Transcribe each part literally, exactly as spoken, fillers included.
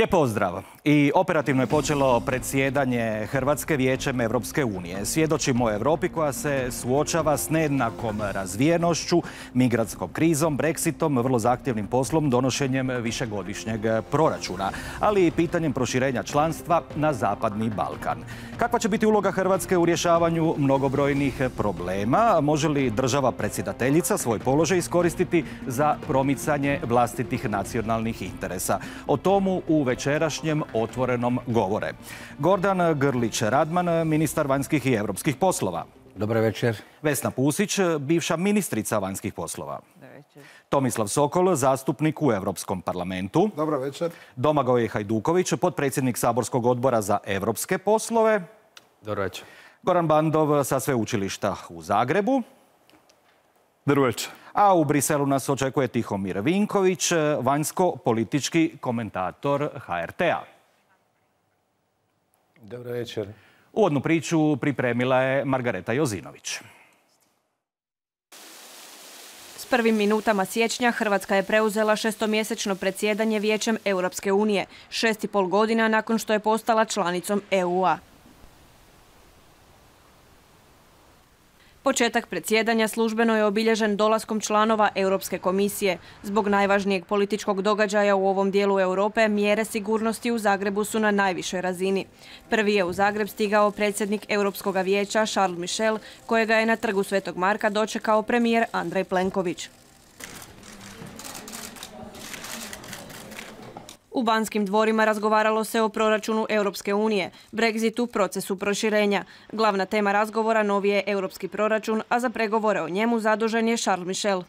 Lijep pozdrav. I operativno je počelo predsjedanje Hrvatske Vijećem Europske unije. Svjedočimo o Europi koja se suočava s nejednakom razvijenošću, migratskom krizom, Brexitom, vrlo zahtjevnim poslom, donošenjem višegodišnjeg proračuna, ali i pitanjem proširenja članstva na Zapadni Balkan. Kakva će biti uloga Hrvatske u rješavanju mnogobrojnih problema? Može li država predsjedateljica svoj položaj iskoristiti za promicanje vlastitih nacionalnih interesa? O tomu u večerašnjem Otvorenom govore. Gordan Grlić-Radman, ministar vanjskih i europskih poslova. Dobar večer. Vesna Pusić, bivša ministrica vanjskih poslova. Tomislav Sokol, zastupnik u Europskom parlamentu. Dobar večer. Domagoj Hajduković, potpredsjednik Saborskog odbora za europske poslove. Dobar večer. Goran Bandov sa sveučilišta u Zagrebu. Dobar večer. A u Briselu nas očekuje Tihomir Vinković, vanjsko-politički komentator H R T-a. Dobar večer. Uvodnu priču pripremila je Margareta Jozinović. S prvim minutama siječnja Hrvatska je preuzela šestomjesečno predsjedanje Vijećem Europske unije, šest i pol godina nakon što je postala članicom E U-a. Početak predsjedanja službeno je obilježen dolaskom članova Europske komisije. Zbog najvažnijeg političkog događaja u ovom dijelu Europe, mjere sigurnosti u Zagrebu su na najvišoj razini. Prvi je u Zagreb stigao predsjednik Europskog vijeća Charles Michel, kojega je na trgu Svetog Marka dočekao premijer Andrej Plenković. U Banskim dvorima razgovaralo se o proračunu Europske unije, Brexitu, procesu proširenja. Glavna tema razgovora novi je europski proračun, a za pregovore o njemu zadužen je Charles Michel.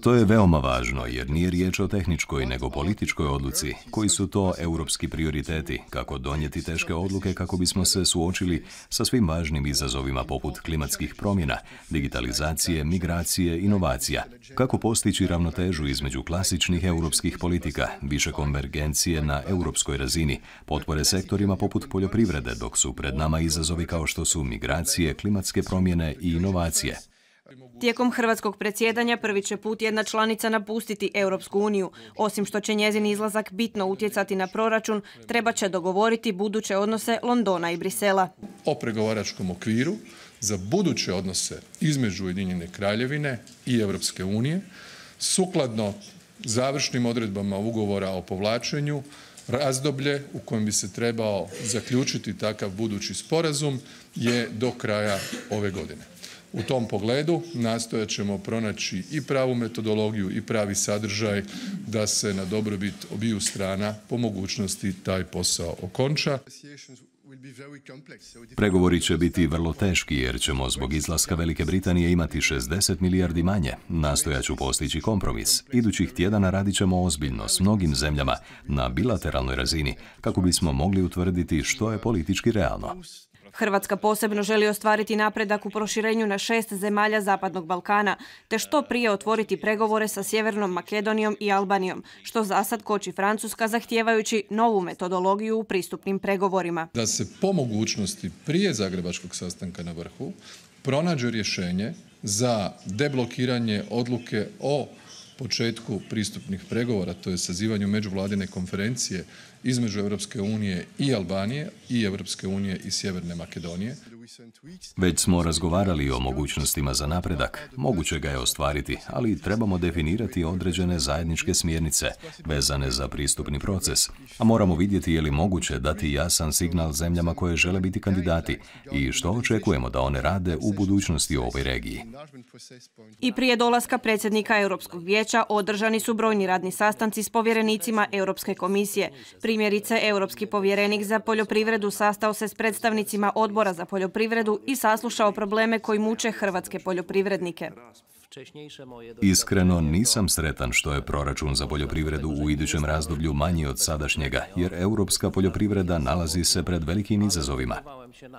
To je veoma važno jer nije riječ o tehničkoj nego političkoj odluci. Koji su to europski prioriteti? Kako donijeti teške odluke kako bismo se suočili sa svim važnim izazovima poput klimatskih promjena, digitalizacije, migracije, inovacija? Kako postići ravnotežu između klasičnih europskih politika, više konvergencije na europskoj razini, potpore sektorima poput poljoprivrede, dok su pred nama izazovi kao što su migracije, klimatske promjene i inovacije? Tijekom hrvatskog predsjedanja prvi će put jedna članica napustiti Europsku uniju. Osim što će njezin izlazak bitno utjecati na proračun, treba će dogovoriti buduće odnose Londona i Brisela. O pregovaračkom okviru za buduće odnose između Ujedinjene Kraljevine i Europske unije, sukladno završnim odredbama ugovora o povlačenju, razdoblje u kojem bi se trebao zaključiti takav budući sporazum je do kraja ove godine. U tom pogledu nastojat ćemo pronaći i pravu metodologiju i pravi sadržaj da se na dobrobit obiju strana po mogućnosti taj posao okonča. Pregovori će biti vrlo teški jer ćemo zbog izlaska Velike Britanije imati šezdeset milijardi manje. Nastojat ću postići kompromis. Idućih tjedana radit ćemo ozbiljno s mnogim zemljama na bilateralnoj razini kako bismo mogli utvrditi što je politički realno. Hrvatska posebno želi ostvariti napredak u proširenju na šest zemalja Zapadnog Balkana, te što prije otvoriti pregovore sa Sjevernom Makedonijom i Albanijom, što zasad koči Francuska zahtijevajući novu metodologiju u pristupnim pregovorima. Da se po mogućnosti prije zagrebačkog sastanka na vrhu pronađe rješenje za deblokiranje odluke o početku pristupnih pregovora, to je sazivanju međuvladine konferencije između Europske unije i Albanije i Europske unije i Sjeverne Makedonije. Već smo razgovarali o mogućnostima za napredak. Moguće ga je ostvariti, ali trebamo definirati određene zajedničke smjernice vezane za pristupni proces. A moramo vidjeti je li moguće dati jasan signal zemljama koje žele biti kandidati i što očekujemo da one rade u budućnosti u ovoj regiji. I prije dolaska predsjednika Europskog vijeća održani su brojni radni sastanci s povjerenicima Europske komisije. Primjerice, Europski povjerenik za poljoprivredu sastao se s predstavnicima odbora za poljoprivredu i saslušao probleme koji muče hrvatske poljoprivrednike. Iskreno nisam sretan što je proračun za poljoprivredu u idućem razdoblju manji od sadašnjega, jer europska poljoprivreda nalazi se pred velikim izazovima.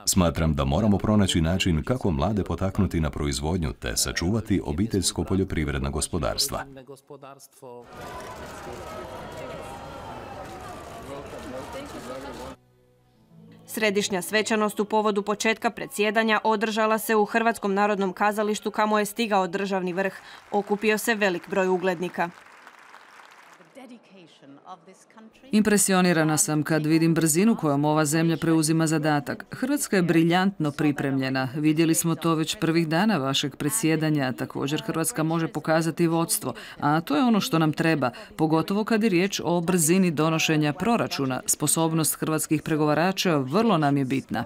Smatram da moramo pronaći način kako mlade potaknuti na proizvodnju te sačuvati obiteljsko poljoprivredna gospodarstva. Središnja svečanost u povodu početka predsjedanja održala se u Hrvatskom narodnom kazalištu kamo je stigao državni vrh. Okupio se velik broj uglednika. Impresionirana sam kad vidim brzinu kojom ova zemlja preuzima zadatak. Hrvatska je briljantno pripremljena. Vidjeli smo to već prvih dana vašeg predsjedanja. Također Hrvatska može pokazati vodstvo, a to je ono što nam treba, pogotovo kad je riječ o brzini donošenja proračuna. Sposobnost hrvatskih pregovarača vrlo nam je bitna.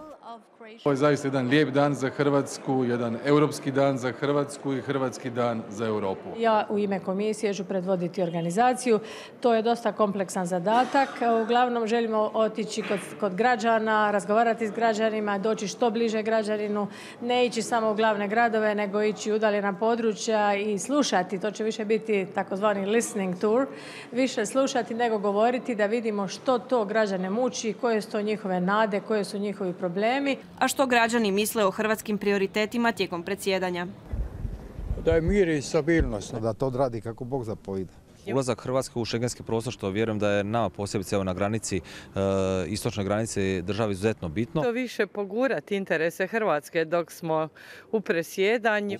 Ovo je zaista jedan lijep dan za Hrvatsku, jedan europski dan za Hrvatsku i hrvatski dan za Europu. Ja u ime komisije ću predvoditi organizaciju. To je dosta kompleksan zadatak. Uglavnom želimo otići kod, kod građana, razgovarati s građanima, doći što bliže građaninu, ne ići samo u glavne gradove, nego ići u udaljena područja i slušati. To će više biti takozvani listening tour. Više slušati nego govoriti, da vidimo što to građane muči, koje su to njihove nade, koje su njihovi problemi. A što građani misle o hrvatskim prioritetima tijekom predsjedanja? Da je mir i stabilnost. Da to odradi kako Bog zapovida. Ulazak Hrvatske u šengenski prostor, što vjerujem da je nama posebice na granici, istočnoj granici države izuzetno bitno. To više pogurati interese Hrvatske dok smo u presjedanju.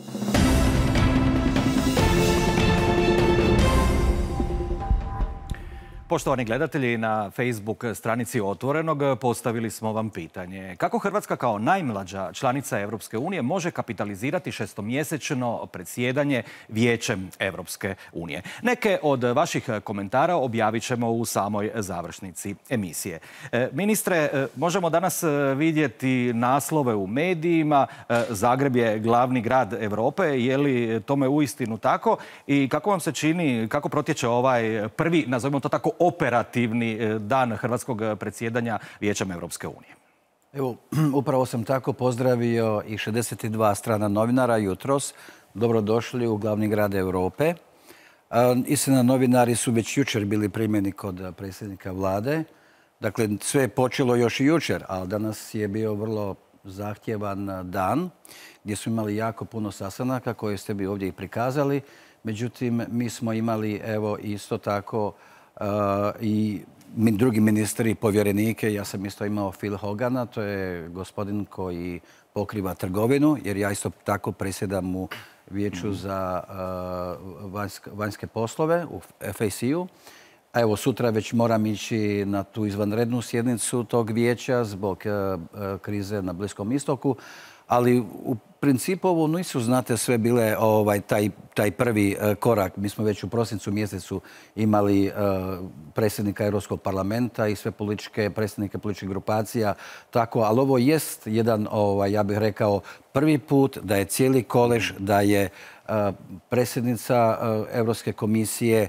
Poštovani gledatelji, na Facebook stranici Otvorenog postavili smo vam pitanje. Kako Hrvatska kao najmlađa članica Europske unije može kapitalizirati šestomjesečno predsjedanje Vijećem Europske unije? Neke od vaših komentara objavit ćemo u samoj završnici emisije. Ministre, možemo danas vidjeti naslove u medijima. Zagreb je glavni grad Europe. Je li tome uistinu tako? I kako vam se čini, kako protječe ovaj prvi, nazovimo to tako, operativni dan hrvatskog predsjedanja Vijećem Europske unije? Evo, upravo sam tako pozdravio i šezdeset dva strana novinara jutros. Dobrodošli u glavni grad Europe. Istina, novinari su već jučer bili primjeni kod predsjednika vlade. Dakle, sve je počelo još i jučer, ali danas je bio vrlo zahtjevan dan gdje smo imali jako puno sastanaka koje ste bi ovdje i prikazali. Međutim, mi smo imali evo isto tako Uh, i drugi ministri, povjerenike. Ja sam isto imao Phil Hogana, to je gospodin koji pokriva trgovinu, jer ja isto tako predsjedam u Vijeću za uh, vanjske, vanjske poslove u F A C-u. A evo, sutra već moram ići na tu izvanrednu sjednicu tog vijeća zbog uh, krize na Bliskom istoku. Ali u principu ovo nisu, znate, sve bile ovaj, taj, taj prvi uh, korak. Mi smo već u prosincu mjesecu imali uh, predsjednika Europskog parlamenta i sve političke, predsjednike političkih grupacija. Tako, ali ovo jest jedan, ovaj, ja bih rekao, prvi put da je cijeli kolež, da je uh, predsjednica uh, Europske komisije,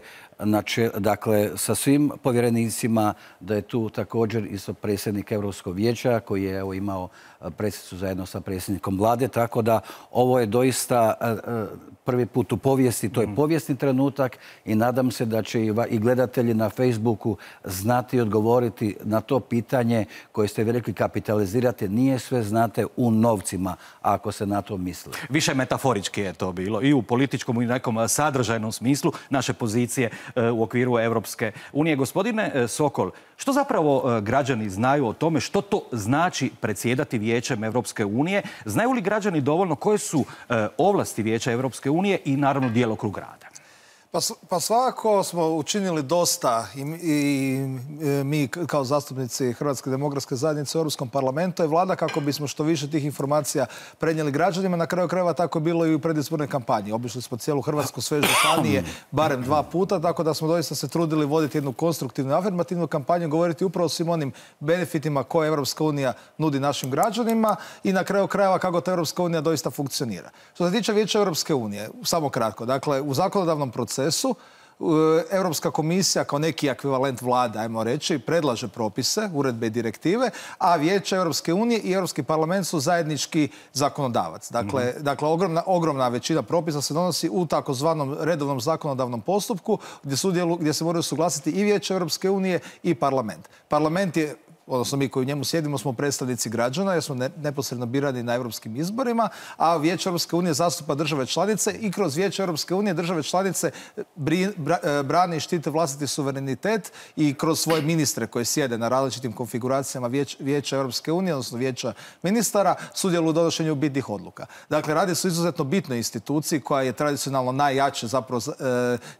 dakle, sa svim povjerenicima, da je tu također isto predsjednik Europskog vijeća koji je evo, imao predsjednicu zajedno sa predsjednikom vlade, tako da ovo je doista prvi put u povijesti, to je povijesni trenutak i nadam se da će i gledatelji na Facebooku znati odgovoriti na to pitanje koje ste vi rekli, kapitalizirati. Nije sve, znate, u novcima, ako se na to misli. Više metaforički je to bilo i u političkom i nekom sadržajnom smislu naše pozicije u okviru Europske unije. Gospodine Sokol, što zapravo građani znaju o tome što to znači predsjedati Vijećem Europske unije? Znaju li građani dovoljno koje su ovlasti Vijeća Europske unije i naravno djelokrug rada? Pa, pa svakako smo učinili dosta i, i mi kao zastupnici Hrvatske demokratske zajednice u Europskom parlamentu i vlada kako bismo što više tih informacija prenijeli građanima. Na kraju krajeva tako je bilo i u predizbornoj kampanji. Obišli smo cijelu Hrvatsku, sve županije, barem dva puta, tako da smo doista se trudili voditi jednu konstruktivnu, afirmativnu kampanju, govoriti upravo o svim onim benefitima koje Europska unija nudi našim građanima i na kraju krajeva kako ta Europska unija doista funkcionira. Što se tiče Vijeća Europske unije, samo kratko, dakle, u zakonodavnom procesu Europska komisija kao neki ekvivalent vlade, ajmo reći, predlaže propise, uredbe i direktive, a Vijeće Europske unije i Europski parlament su zajednički zakonodavac. Dakle, mm-hmm. dakle ogromna, ogromna većina propisa se donosi u takozvanom redovnom zakonodavnom postupku gdje, sudjelu, gdje se moraju suglasiti i Vijeće Europske unije i parlament. Parlament je odnosno mi koji u njemu sjedimo smo predstavnici građana jer smo neposredno birani na europskim izborima, a Vijeće Europske unije zastupa države članice i kroz Vijeće Europske unije države članice brane i štite vlastiti suverenitet i kroz svoje ministre koji sjede na različitim konfiguracijama Vijeća Europske unije, odnosno Vijeća ministara, sudjeluju u donošenju bitnih odluka. Dakle, radi se o izuzetno bitnoj instituciji koja je tradicionalno najjače zapravo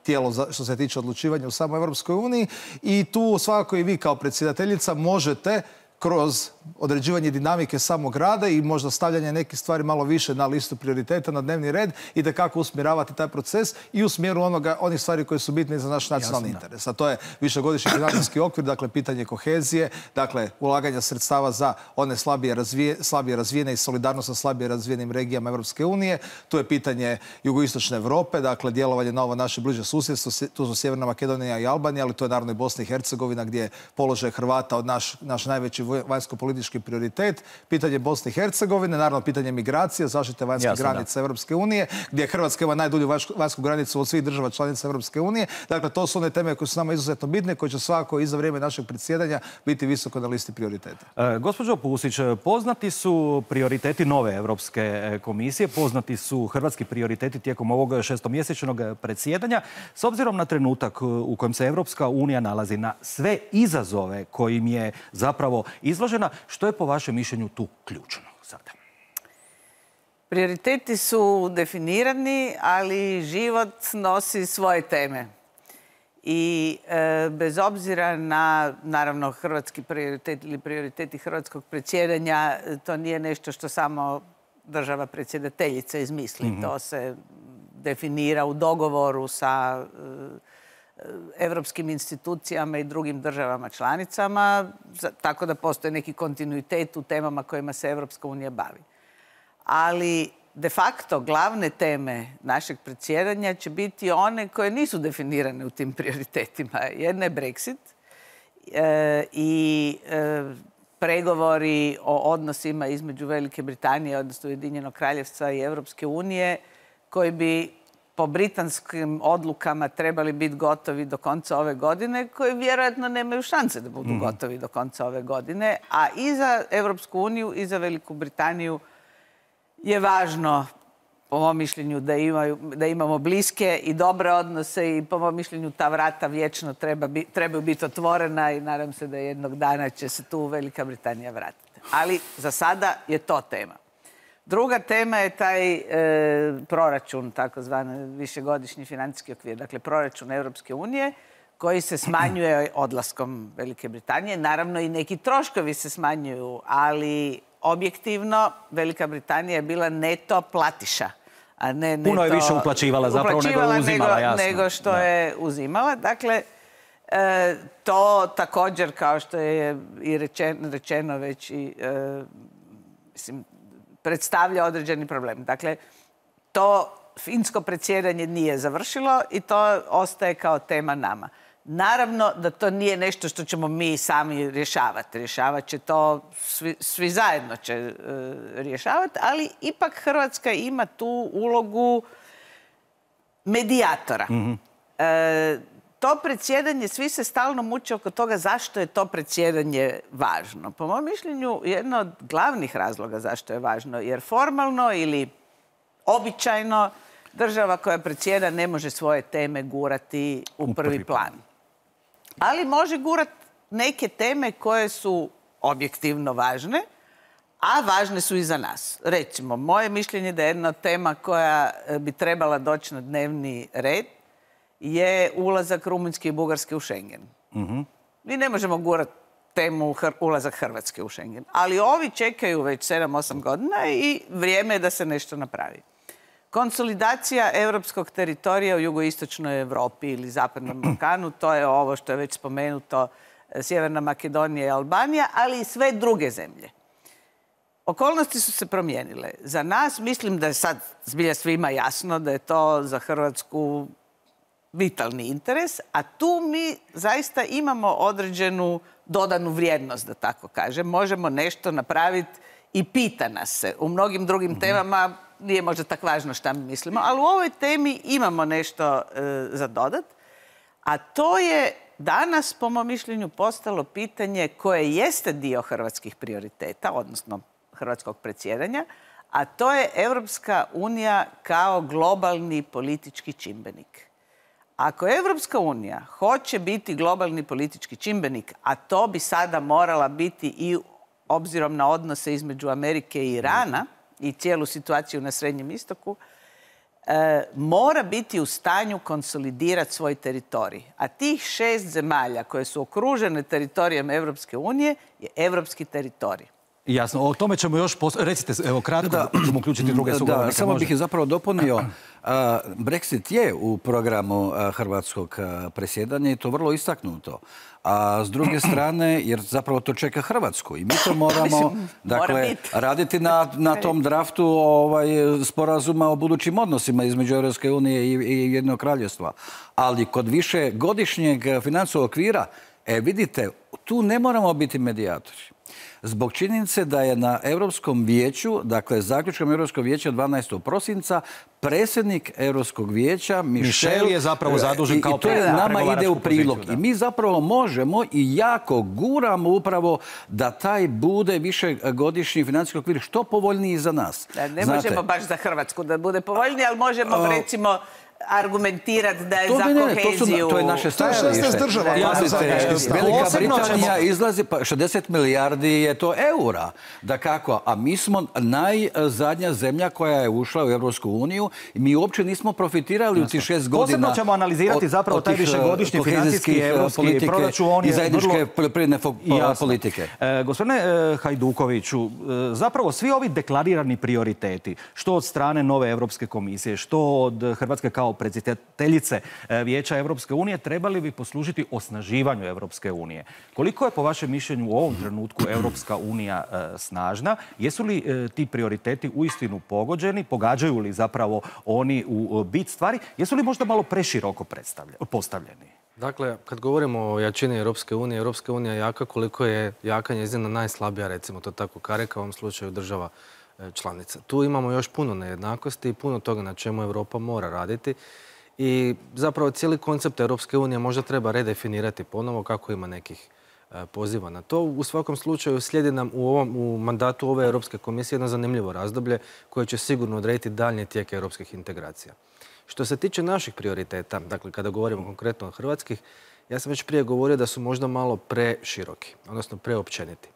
tijelo što se tiče odlučivanja u samoj Europskoj uniji i tu svakako i vi kao predsjedateljica možete kroz određivanje dinamike samog rada i možda stavljanje nekih stvari malo više na listu prioriteta, na dnevni red i da kako usmjeravati taj proces i u smjeru onoga, onih stvari koje su bitne za naš nacionalni interes. A to je višegodišnji financijski okvir, dakle pitanje kohezije, dakle ulaganja sredstava za one slabije, razvije, slabije razvijene i solidarnost sa slabije razvijenim regijama Europske unije. Tu je pitanje jugoistočne Europe, dakle djelovanje na ovo naše bliže susjedstvo, tu su Sjeverna Makedonija i Albanija, ali to je naravno i Bosna i Hercegovina gdje je položaj Hrvata od naš, naš najveći vanjsko-politički prioritet, pitanje Bosne i Hercegovine, naravno pitanje migracije, zaštite vanjskih granica Europske unije, gdje Hrvatska ima najdulju vanjsku granicu od svih država članica Europske unije. Dakle, to su one teme koje su nama izuzetno bitne, koje će svakako i za vrijeme našeg predsjedanja biti visoko na listi prioriteta. E, gospođo Pusić, poznati su prioriteti nove Europske komisije, poznati su hrvatski prioriteti tijekom ovog šestomjesečnog predsjedanja. S obzirom na trenutak u kojem se Europska unija nalazi, na sve izazove kojim je zapravo izložena, što je po vašem mišljenju tu ključno sada? Prioriteti su definirani, ali život nosi svoje teme. I e, bez obzira na, naravno, hrvatski prioritet ili prioriteti hrvatskog predsjedanja, to nije nešto što samo država predsjedateljica izmisli. Mm-hmm. To se definira u dogovoru sa evropskim institucijama i drugim državama članicama, tako da postoji neki kontinuitet u temama kojima se Evropska unija bavi. Ali de facto glavne teme našeg predsjedanja će biti one koje nisu definirane u tim prioritetima. Jedna je Brexit e, i e, pregovori o odnosima između Velike Britanije, odnosno Ujedinjenog Kraljevstva i Evropske unije, koji bi po britanskim odlukama trebali biti gotovi do konca ove godine, koji vjerojatno nemaju šanse da budu mm. gotovi do konca ove godine. A i za Evropsku uniju i za Veliku Britaniju je važno, po mom mišljenju, da, imaju, da imamo bliske i dobre odnose i po mom mišljenju ta vrata vječno treba bi, trebaju biti otvorena i nadam se da jednog dana će se tu Velika Britanija vratiti. Ali za sada je to tema. Druga tema je taj e, proračun, takozvani višegodišnji financijski okvir, dakle proračun Europske unije, koji se smanjuje odlaskom Velike Britanije. Naravno i neki troškovi se smanjuju, ali objektivno Velika Britanija je bila neto platiša. A ne neto, puno je više uplaćivala zapravo uplaćivala nego uzimala, nego, jasno. nego što da. je uzimala. Dakle, e, to također, kao što je i rečeno, rečeno već i, e, mislim, predstavlja određeni problem. Dakle, to finsko predsjedanje nije završilo i to ostaje kao tema nama. Naravno da to nije nešto što ćemo mi sami rješavati. Rješavat će to, svi, svi zajedno će e, rješavati, ali ipak Hrvatska ima tu ulogu medijatora. Mm-hmm. e, to predsjedanje, svi se stalno muče oko toga zašto je to predsjedanje važno. Po mom mišljenju, jedno od glavnih razloga zašto je važno, jer formalno ili običajno država koja predsjeda ne može svoje teme gurati u, u prvi, prvi plan. Ali može gurati neke teme koje su objektivno važne, a važne su i za nas. Recimo, moje mišljenje da je jedna tema koja bi trebala doći na dnevni red je ulazak Rumunjske i Bugarske u Schengen. Mm-hmm. Mi ne možemo gurati temu hr- ulazak Hrvatske u Schengen, ali ovi čekaju već sedam osam godina i vrijeme je da se nešto napravi. Konsolidacija europskog teritorija u jugoistočnoj Europi ili Zapadnom Balkanu, to je ovo što je već spomenuto, Sjeverna Makedonija i Albanija, ali i sve druge zemlje. Okolnosti su se promijenile. Za nas, mislim da je sad zbilja svima jasno da je to za Hrvatsku vitalni interes, a tu mi zaista imamo određenu dodanu vrijednost, da tako kažem. Možemo nešto napraviti i pita nas se. U mnogim drugim temama nije možda tak važno šta mi mislimo, ali u ovoj temi imamo nešto e, za dodat, a to je danas, po mom mišljenju, postalo pitanje koje jeste dio hrvatskih prioriteta, odnosno hrvatskog predsjedanja, a to je Europska unija kao globalni politički čimbenik. Ako Europska unija hoće biti globalni politički čimbenik, a to bi sada morala biti i obzirom na odnose između Amerike i Irana i cijelu situaciju na Srednjem istoku, e, mora biti u stanju konsolidirati svoj teritorij. A tih šest zemalja koje su okružene teritorijem Europske unije je europski teritorij. Jasno, o tome ćemo još... Pos... Recite, evo kratko, da ćemo uključiti druge sugovornike. Da, samo bih zapravo dopunio. Brexit je u programu hrvatskog predsjedanja i to vrlo istaknuto. A s druge strane, jer zapravo to čeka Hrvatsku i mi to moramo dakle, raditi na, na tom draftu ovaj, sporazuma o budućim odnosima između Europske unije i, i Jednog kraljevstva. Ali kod više godišnjeg financijskog okvira, e, vidite, tu ne moramo biti medijatori. Zbog činjenice da je na Europskom vijeću, dakle zaključkom Europskog vijeća dvanaestog prosinca, predsjednik Europskog vijeća Michel, Michel je zapravo zadužen kao i to je nama ide u prilog. Poziciju, I mi zapravo možemo i jako guramo upravo da taj bude višegodišnji financijski okvir što povoljniji za nas. Da, ne Znate, možemo baš za Hrvatsku da bude povoljniji, ali možemo uh, recimo argumentirati da je to, za ne, ne, koheziju... To, su, to je naše stajalište. Velika Britanija izlazi, pa šezdeset milijardi je to eura. Da kako? A mi smo najzadnja zemlja koja je ušla u Europsku uniju i mi uopće nismo profitirali Jasno. u tih šest godina. Posebno ćemo analizirati od, zapravo od taj višegodišnji financijski evropski proračun i zajedničke poljoprivredne politike. E, gospodine e, Hajdukoviću, e, zapravo svi ovi deklarirani prioriteti, što od strane nove Europske komisije, što od Hrvatske kao predsjedateljice Vijeća Europske unije, trebali bi poslužiti osnaživanju Europske unije. Koliko je po vašem mišljenju u ovom trenutku Europska unija e, snažna? Jesu li e, ti prioriteti uistinu pogođeni? Pogađaju li zapravo oni u bit stvari? Jesu li možda malo preširoko postavljeni? Dakle, kad govorimo o jačini Europske unije, Europska unija je jaka koliko je jaka njezina najslabija, recimo to tako karika, u ovom slučaju država članica. Tu imamo još puno nejednakosti i puno toga na čemu Europa mora raditi. I zapravo cijeli koncept Europske unije možda treba redefinirati ponovo kako ima nekih poziva na to. U svakom slučaju slijedi nam u, ovom, u mandatu ove Europske komisije jedno zanimljivo razdoblje koje će sigurno odrediti daljnji tijek europskih integracija. Što se tiče naših prioriteta, dakle kada govorimo konkretno o hrvatskih, ja sam već prije govorio da su možda malo preširoki, odnosno preopćeniti.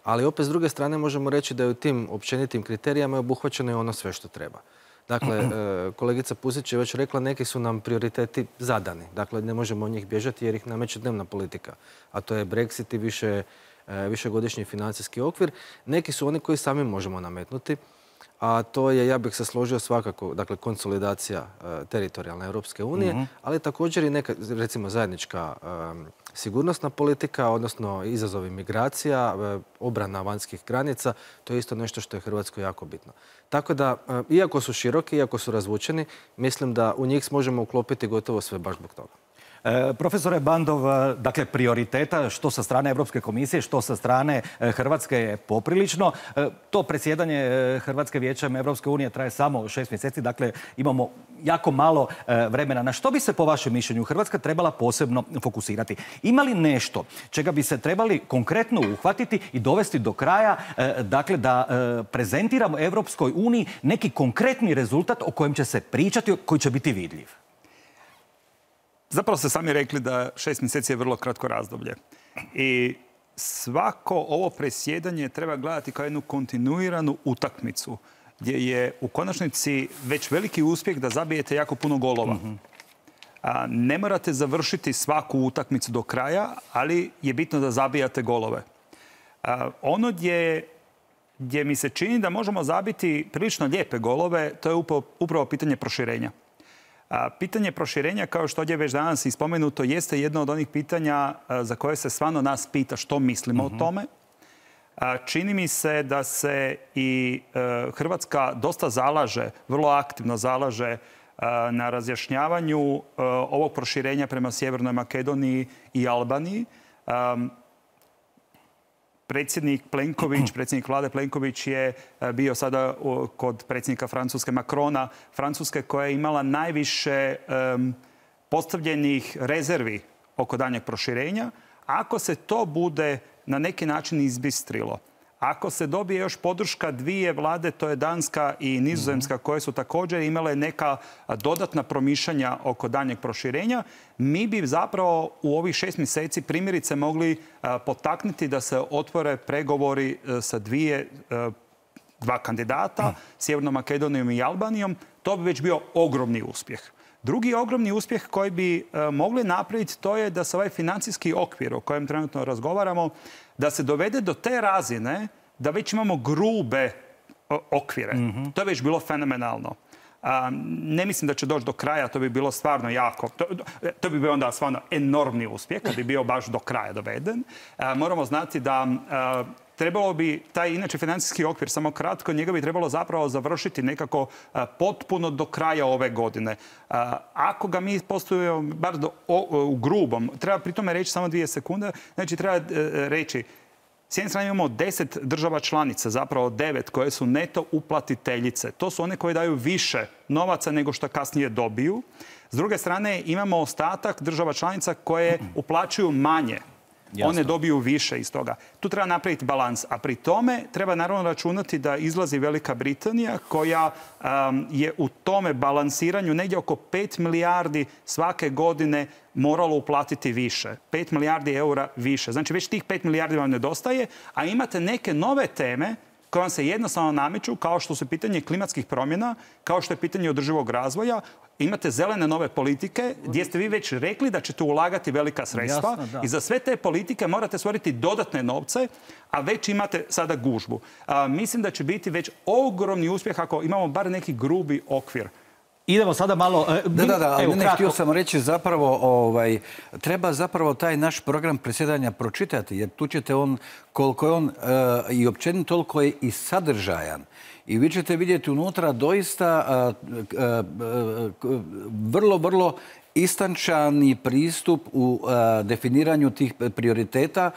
Ali opet s druge strane možemo reći da je u tim općenitim kriterijama obuhvaćeno i ono sve što treba. Dakle, kolegica Pusić je već rekla, neki su nam prioriteti zadani. Dakle, ne možemo od njih bježati jer ih nameće dnevna politika. A to je Brexit i više, višegodišnji financijski okvir. Neki su oni koji sami možemo nametnuti. A to je, ja bih se složio svakako, dakle, konsolidacija teritorijalne Europske unije, mm-hmm. ali također i neka, recimo, zajednička um, sigurnosna politika, odnosno izazovi migracija, obrana vanjskih granica, to je isto nešto što je Hrvatskoj jako bitno. Tako da, iako su široki, iako su razvučeni, mislim da u njih možemo uklopiti gotovo sve baš zbog toga. E, profesore Bandov, dakle, prioriteta što sa strane Europske komisije, što sa strane Hrvatske je poprilično. E, to predsjedanje Hrvatske Vijećem Europske unije traje samo šest mjeseci, dakle imamo jako malo e, vremena. Na što bi se po vašem mišljenju Hrvatska trebala posebno fokusirati? Ima li nešto čega bi se trebali konkretno uhvatiti i dovesti do kraja, e, dakle da e, prezentiramo Europskoj uniji neki konkretni rezultat o kojem će se pričati, koji će biti vidljiv? Zapravo ste sami rekli da šest mjeseci je vrlo kratko razdoblje. I svako ovo predsjedanje treba gledati kao jednu kontinuiranu utakmicu gdje je u konačnici već veliki uspjeh da zabijete jako puno golova. Mm-hmm. A, ne morate završiti svaku utakmicu do kraja, ali je bitno da zabijate golove. A, ono gdje, gdje mi se čini da možemo zabiti prilično lijepe golove, to je upravo, upravo pitanje proširenja. A, pitanje proširenja, kao što ovdje već danas i spomenuto, jeste jedno od onih pitanja a, za koje se stvarno nas pita što mislimo mm-hmm. o tome. A, čini mi se da se i a, Hrvatska dosta zalaže, vrlo aktivno zalaže a, na razjašnjavanju a, ovog proširenja prema Sjevernoj Makedoniji i Albaniji. A, Predsjednik Plenković, predsjednik vlade Plenković je bio sada kod predsjednika Francuske Macrona, Francuske koja je imala najviše um, postavljenih rezervi oko daljnjeg proširenja, ako se to bude na neki način izbistrilo, ako se dobije još podrška dvije vlade, to je Danska i Nizozemska, koje su također imale neka dodatna promišljanja oko daljnjeg proširenja, mi bi zapravo u ovih šest mjeseci primjerice mogli potaknuti da se otvore pregovori sa dvije, dva kandidata, Sjevernom Makedonijom i Albanijom. To bi već bio ogromni uspjeh. Drugi ogromni uspjeh koji bi mogli napraviti, to je da se ovaj financijski okvir o kojem trenutno razgovaramo, da se dovede do te razine da već imamo grube okvire. Mm-hmm. To je već bilo fenomenalno. A, ne mislim da će doći do kraja, to bi bilo stvarno jako, to, to bi bio onda stvarno enormni uspjeh, kad bi bio baš do kraja doveden. A, moramo znati da a, trebalo bi taj inače financijski okvir, samo kratko, njega bi trebalo zapravo završiti nekako a, potpuno do kraja ove godine. A, ako ga mi postavimo bar do, o, u grubom, treba pri tome reći samo dvije sekunde, znači treba a, reći, s jedne strane imamo deset država članica, zapravo devet, koje su neto uplatiteljice. To su one koje daju više novaca nego što kasnije dobiju. S druge strane imamo ostatak država članica koje uplaćuju manje. Jasno. One dobiju više iz toga. Tu treba napraviti balans. A pri tome treba naravno računati da izlazi Velika Britanija koja um, je u tome balansiranju negdje oko pet milijardi svake godine moralo uplatiti više. pet milijardi eura više. Znači već tih pet milijardi vam nedostaje, a imate neke nove teme koje vam se jednostavno nameću, kao što su pitanje klimatskih promjena, kao što je pitanje održivog razvoja. Imate zelene nove politike gdje ste vi već rekli da ćete ulagati velika sredstva. Jasno, i za sve te politike morate stvoriti dodatne novce, a već imate sada gužbu. A, mislim da će biti već ogromni uspjeh ako imamo bar neki grubi okvir. Idemo sada malo... Uh, da, da, da, ali ne, htio sam reći zapravo, ovaj, treba zapravo taj naš program predsjedanja pročitati, jer tu ćete on, koliko je on uh, i općenito, toliko je i sadržajan. I vi ćete vidjeti unutra doista uh, uh, uh, vrlo, vrlo istančani pristup u uh, definiranju tih prioriteta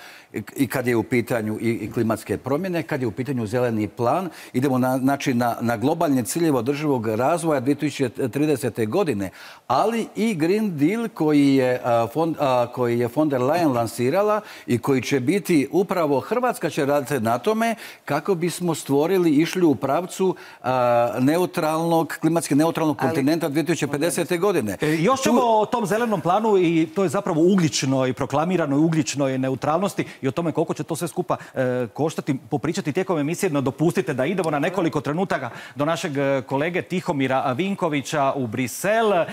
i kad je u pitanju i, i klimatske promjene, kad je u pitanju zeleni plan. Idemo na, znači, na, na globalne ciljeve održivog razvoja dvije tisuće tridesete. godine, ali i Green Deal koji je, uh, fond, uh, koji je von der Leyen lansirala i koji će biti upravo Hrvatska će raditi na tome kako bismo stvorili, išli u pravcu uh, neutralnog, klimatski neutralnog ali... kontinenta dvije tisuće pedesete. godine. E, još ćemo o tom zelenom planu i to je zapravo ugljičnoj, proklamiranoj ugljičnoj neutralnosti i o tome koliko će to sve skupa e, koštati, popričati tijekom emisije. No dopustite da idemo na nekoliko trenutaka do našeg kolege Tihomira Vinkovića u Brisel. E,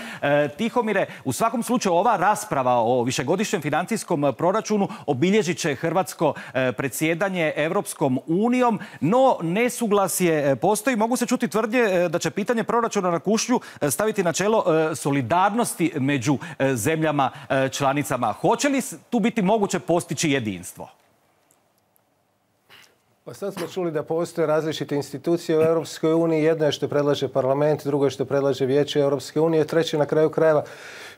Tihomire, u svakom slučaju ova rasprava o višegodišnjem financijskom proračunu obilježit će hrvatsko e, predsjedanje Europskom unijom, no nesuglasje postoji. Mogu se čuti tvrdnje e, da će pitanje proračuna na kušnju staviti na čelo e, solidarnosti među zemljama članicama. Hoće li tu biti moguće postići jedinstvo? Pa sad smo čuli da postoje različite institucije u Europskoj uniji. Jedna je što predlaže parlament, drugo je što predlaže Vijeće Europske unije, treće na kraju krajeva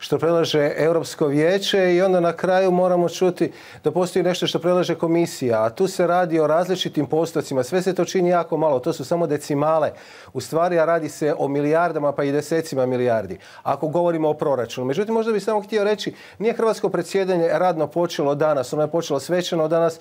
što predlaže Europsko vijeće i onda na kraju moramo čuti da postoji nešto što predlaže komisija. A tu se radi o različitim postocima. Sve se to čini jako malo. To su samo decimale. U stvari, a radi se o milijardama pa i desecima milijardi. Ako govorimo o proračunu. Međutim, možda bih samo htio reći, nije hrvatsko predsjedanje radno počelo danas. Ono je počelo svečano danas.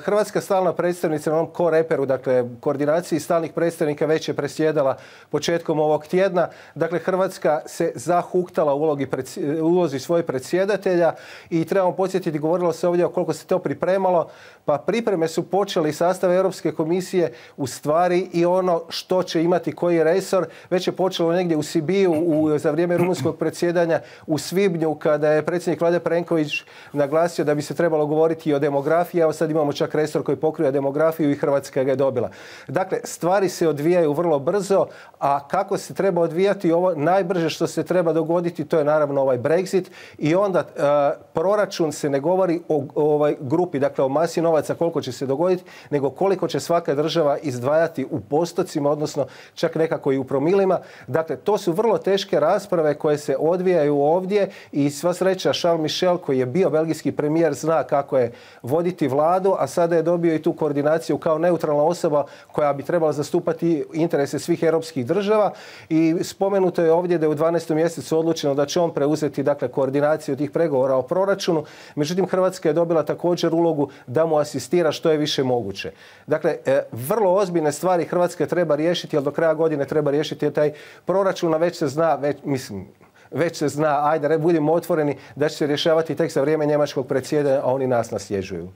Hrvatska stalna predstavnica na onom koreperu, dakle koordinaciji stalnih predstavnika, već je presjedala početkom ovog tjedna. Dakle, Hrvatska se zahuktala u ulogi predsjedanja ulozi svojih predsjedatelja i trebamo podsjetiti, govorilo se ovdje o koliko se to pripremalo, pa pripreme su počeli sastav Europske komisije u stvari i ono što će imati koji resor. Već je počelo negdje u Sibiju u, za vrijeme rumunskog predsjedanja u svibnju kada je predsjednik Vlade Plenković naglasio da bi se trebalo govoriti i o demografiji. Evo sad imamo čak resor koji pokriva demografiju i Hrvatska ga je dobila. Dakle, stvari se odvijaju vrlo brzo, a kako se treba odvijati ovo najbrže što se treba dogoditi, to je naravno ovaj Brexit i onda uh, proračun se ne govori o, o ovoj grupi, dakle o masi novaca koliko će se dogoditi, nego koliko će svaka država izdvajati u postocima, odnosno čak nekako i u promilima. Dakle, to su vrlo teške rasprave koje se odvijaju ovdje i sva sreća Charles Michel koji je bio belgijski premijer zna kako je voditi vladu, a sada je dobio i tu koordinaciju kao neutralna osoba koja bi trebala zastupati interese svih europskih država i spomenuto je ovdje da je u dvanaestom mjesecu odlučeno da će on preuzeti dakle, koordinaciju tih pregovora o proračunu. Međutim, Hrvatska je dobila također ulogu da mu asistira što je više moguće. Dakle, vrlo ozbiljne stvari Hrvatska treba riješiti, jer do kraja godine treba riješiti taj proračun, a već se zna, već, mislim, već se zna, ajde, budimo otvoreni, da će se rješavati tek za vrijeme njemačkog predsjedanja, a oni nas nasljeđuju.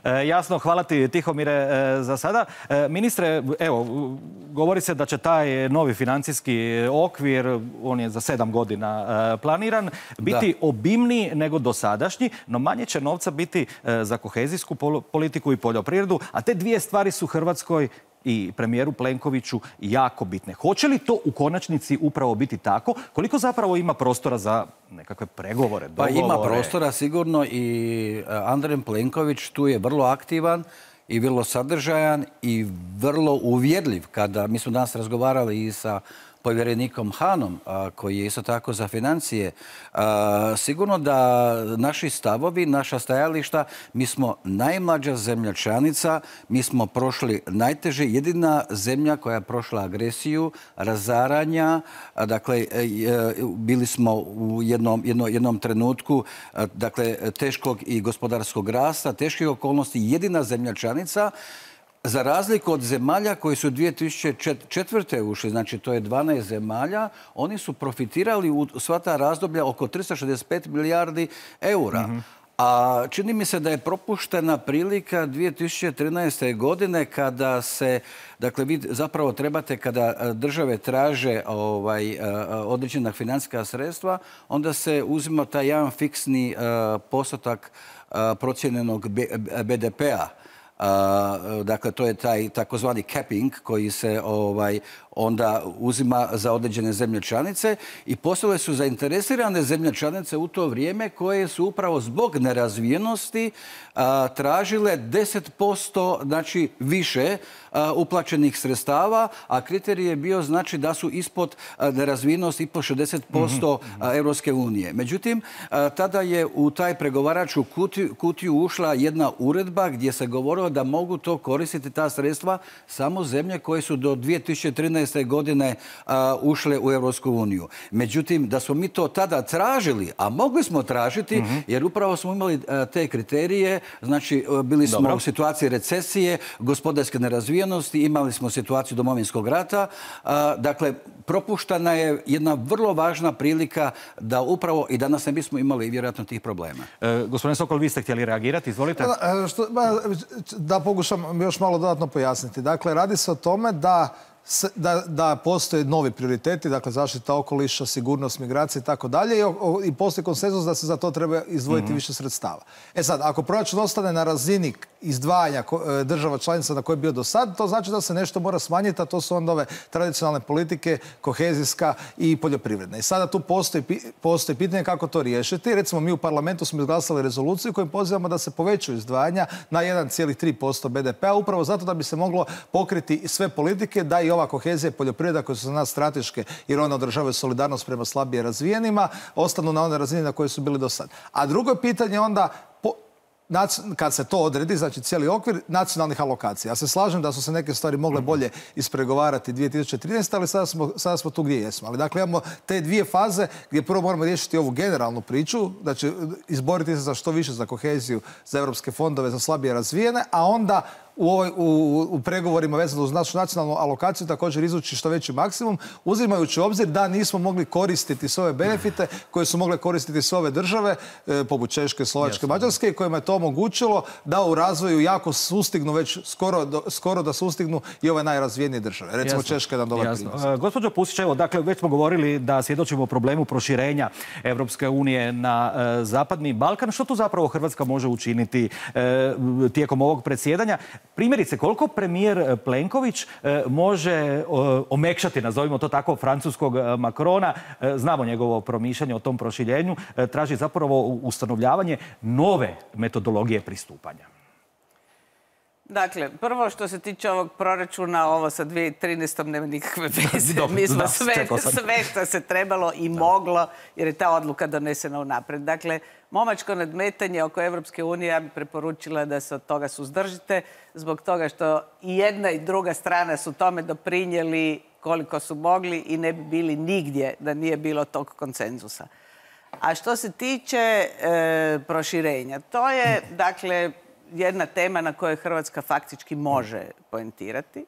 E, jasno, hvala ti Tihomire e, za sada. E, ministre, evo, govori se da će taj novi financijski okvir, on je za sedam godina e, planiran, biti da. obimniji nego dosadašnji, no manje će novca biti e, za kohezijsku politiku i poljoprivredu, a te dvije stvari su Hrvatskoj i premijeru Plenkoviću jako bitne. Hoće li to u konačnici upravo biti tako? Koliko zapravo ima prostora za nekakve pregovore, dogovore? Pa ima prostora sigurno i Andrej Plenković tu je vrlo aktivan i vrlo sadržajan i vrlo uvjerljiv. Kada mi smo danas razgovarali i sa povjerenikom Hanom, koji je isto tako za financije. Sigurno da naši stavovi, naša stajališta, mi smo najmlađa zemlja članica, mi smo prošli najteže, jedina zemlja koja je prošla agresiju, razaranja, dakle, bili smo u jednom, jednom, jednom trenutku, dakle, teškog i gospodarskog rasta, teških okolnosti, jedina zemlja članica. Za razliku od zemalja koji su dvije tisuće četvrte ušli, znači to je dvanaest zemalja, oni su profitirali u sva ta razdoblja oko tristo šezdeset pet milijardi eura. Mm-hmm. A čini mi se da je propuštena prilika dvije tisuće trinaeste. godine kada se, dakle vi zapravo trebate kada države traže ovaj, određena financijska sredstva, onda se uzima taj jedan fiksni uh, postotak uh, procijenjenog be de pea. Uh, dakle, to je taj takozvani capping koji se ovaj, onda uzima za određene zemlje članice i postale su zainteresirane zemlje članice u to vrijeme koje su upravo zbog nerazvijenosti uh, tražile deset posto znači, više uh, uplaćenih sredstava, a kriterij je bio znači da su ispod uh, nerazvijenosti ispod šezdeset posto mm-hmm. uh, Europske unije. Međutim, uh, tada je u taj pregovaraču kutiju, kutiju ušla jedna uredba gdje se govorilo da mogu to koristiti ta sredstva samo zemlje koje su do dvije tisuće trinaeste. godine uh, ušle u Europsku uniju. Međutim, da smo mi to tada tražili, a mogli smo tražiti, mm-hmm. jer upravo smo imali uh, te kriterije, znači uh, bili smo Dobro. u situaciji recesije, gospodarske nerazvijenosti, imali smo situaciju Domovinskog rata, uh, dakle, propuštana je jedna vrlo važna prilika da upravo i danas ne bismo imali vjerojatno tih problema. E, gospodine Sokol, vi ste htjeli reagirati, izvolite. Da, što, da pokušam još malo dodatno pojasniti. Dakle, radi se o tome da Da, da postoje novi prioriteti, dakle zaštita okoliša, sigurnost, migracije i tako dalje i postoji konsenzus da se za to treba izdvojiti mm-hmm. više sredstava. E sad, ako proračun ostane na razini izdvajanja država članica na koje je bio do sad, to znači da se nešto mora smanjiti, a to su onda ove tradicionalne politike, kohezijska i poljoprivredna. I sada tu postoji, postoji pitanje kako to riješiti. Recimo, mi u parlamentu smo izglasali rezoluciju kojom pozivamo da se povećaju izdvajanja na jedan zarez tri posto be de pea, upravo zato da bi se moglo pokriti sve politike, da i ova kohezija i poljoprivreda koje su za nas strateške jer one održavaju solidarnost prema slabije razvijenima, ostanu na one razine na koje su bili do sad. A drugo je pitanje onda po, kad se to odredi, znači cijeli okvir nacionalnih alokacija. Ja se slažem da su se neke stvari mogle bolje ispregovarati dvije tisuće trinaeste. ali sada smo, sada smo tu gdje jesmo. Ali dakle imamo te dvije faze gdje prvo moramo riješiti ovu generalnu priču, da će izboriti se za što više za koheziju, za europske fondove, za slabije razvijene, a onda U, ovoj, u, u pregovorima vezano uz našu nacionalnu alokaciju također izvući što veći maksimum, uzimajući u obzir da nismo mogli koristiti sve ove benefite koje su mogle koristiti sve ove države, e, poput Češke, Slovačke, Mađarske, kojima je to omogućilo da u razvoju jako sustignu već skoro, do, skoro da sustignu i ove najrazvijenije države. Recimo Jasno. Češka je nam dobar primjer. E, gospođo Pusić, evo, dakle, već smo govorili da svjedočimo problemu proširenja Evropske unije na e, Zapadni Balkan. Što tu zapravo Hrvatska može učiniti e, tijekom ovog predsjedanja? Primjerice, koliko premijer Plenković može omekšati, nazovimo to tako, francuskog Macrona, znamo njegovo promišljanje o tom proširenju, traži zapravo ustanovljavanje nove metodologije pristupanja. Dakle, prvo što se tiče ovog proračuna, ovo sa dvije tisuće trinaestom nema nikakve veze. Mi smo sve, sve što se trebalo i moglo, jer je ta odluka donesena unaprijed. Dakle, momačko nadmetanje oko Evropske unije, ja bih preporučila da se od toga suzdržite, zbog toga što i jedna i druga strana su tome doprinijeli koliko su mogli i ne bi bili nigdje da nije bilo tog konsenzusa. A što se tiče e, proširenja, to je, dakle, jedna tema na kojoj Hrvatska faktički može poentirati.